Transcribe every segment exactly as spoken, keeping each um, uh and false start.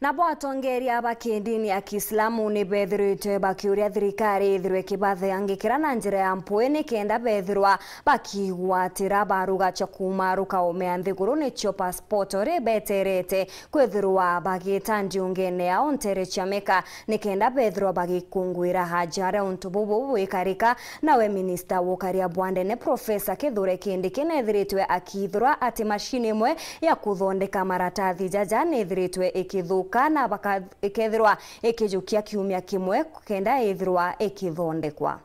Nabo atongeria ba kidini ya Kiislamu ni bethiritwe bakiuria thirikari ithirwe ikibathangikira na njira ya mpui nikenda bethirwa bakigwatira baruga cia kuuma rukaumea nthiguru nicio passport uri beterete kwithirwa bagita ndiungene yao ntere cia Mecca nikenda bethirwa bagikunguira haja aria untu bubu bwikarika. Nawe minista wa ukaria bwa ndene Professor Kithure Kindiki nethiritwe akithirwa ati mashini imwe ya kuthondeka maratathi jaja nethiritwe ikithuka na baka-, ikethirwa ikijukia kiumia kimwe kenda ithirwa ikithondekwa.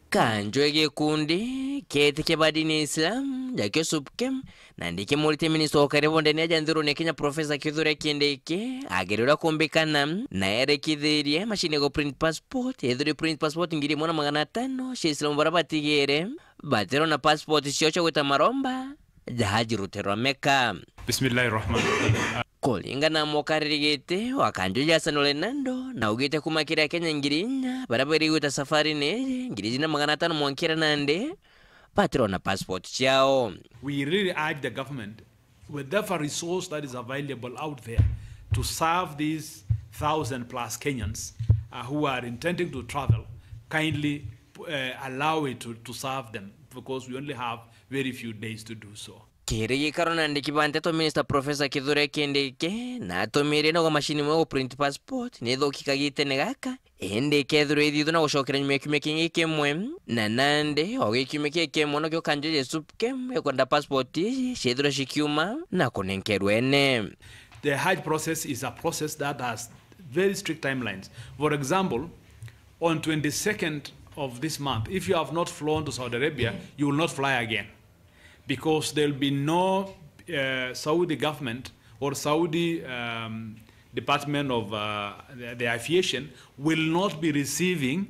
Kanjwe gikundi kietikia ba dini ya Islam jakio SUPKEM na ndikimuritie minista wa ukaria bwa ndene aja nthigurune ya Kenya Professor Kithure Kindiki agere uria kumbikana na erekithirie mashini ya ku print passport ethirwe print passport ngiri imwe na magana atano cia Islam bara batigire batirona passport ciao cia gwita maromba jahaji rute rwa Mecca. Bismillahir Rahmanir Rahim. Kuringana na mukariri giti wa kanju Jason Ole Nando, na augite kuma kiri Akenya ngiri inya baria bairi gwita safari ni iji, ngiri ijiri na magana atano mwankira nandi batirona passport ciao. We really urge the government, whatever resource that is available out there, to serve these thousand plus Kenyans, uh, who are intending to travel, kindly, uh, allow it to, to serve them, because we only have very few days to do so. Kiri gikaro na andiki ba nteto, Minister Professor Kithure Kindiki na atumirie nogo mashini imwe gu print passport ni ithuki kagitene gaka, indi ikethirwa ithithwa na gucokera nyuma ya kiumia kingi kimwe, na nandi o gi kiumia kingi kimwe nokio kanju ja SUPKEM ikwenda passport iji ciithirwe cikiuma na kunenkerwa ene. The Hajj process is a process that has very strict timelines. For example, on twenty-second of this month, if you have not flown to Saudi Arabia, you will not fly again. Because there'll be no, uh, Saudi government or Saudi, um, Department of, uh, the, the Aviation will not be receiving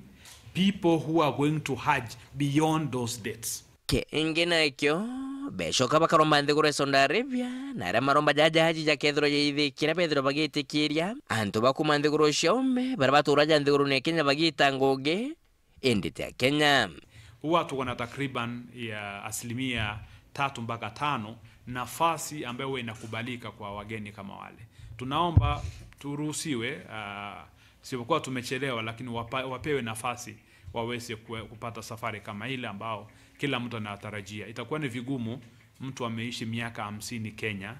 people who are going to Hajj beyond those dates. Kingi nakio, becoka bakaromba nthiguru ya Saudi Arabia, na aria maromba ja jahaji jakethirwa jaithikira bethirwa bagitikiria antu ba kuma nthiguru cia ume baria batura ja nthigurune ya Kenya bagita ngugi, indi ti Akenya. Huwa tuko na takriban ya asilimia tatu mpaka tano nafasi ambayo huwa inakubalika kwa wageni kama wale. Tunaomba turuhusiwe, ah, sipokuwa tumechelewa, lakini wapa-, wapewe nafasi waweze kue-, kupata safari kama ile ambao kila mtu anatarajia. Itakuwa ni vigumu mtu ameishi miaka hamsini Kenya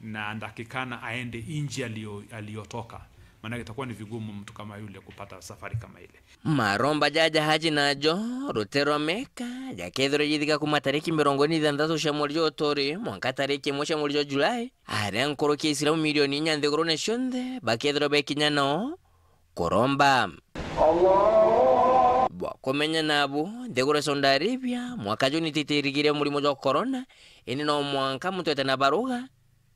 na ndakikana aende nchi alio-, aliyotoka. Maanake itakuwa ni vigumu mtu kama yule kupata safari kama ile. Maromba ja jahaji najo rute rwa Mecca jakethirwa jithika kuma tariki mirongo iri na ithantatu cia mweri jwa uturi mwanka tariki imwe cia mweri jwa Julai, aria nkuruki ya Aisilamu milioni inya nthigurune cionthe bakethirwa bekinya nao kuromba. Bwa kumenya nabu, nthiguru ya Saudi Arabia mwaka juu nititirigiria murimo jwa corona, indi no mwanka muntu ete na baruga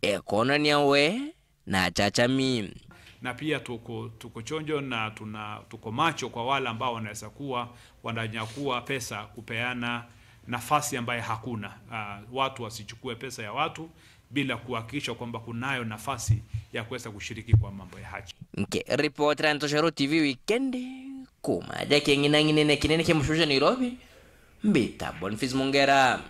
ekonania we na achachami. Na pia tuko, tuko chonjo na tuna, tuko macho kwa wale ambao wanaweza kuwa wananyakua pesa kupeana nafasi ambaye hakuna. Ah, watu wasichukue pesa ya watu bila kuhakikisha kwamba kunayo nafasi ya kuweza kushiriki kwa mambo ya haji. Nkiripotera Ntoshero T V Wikendi, kuma aja king'inang'inene kinene kia mucuja Nairobi, mbita Boniface Mungera.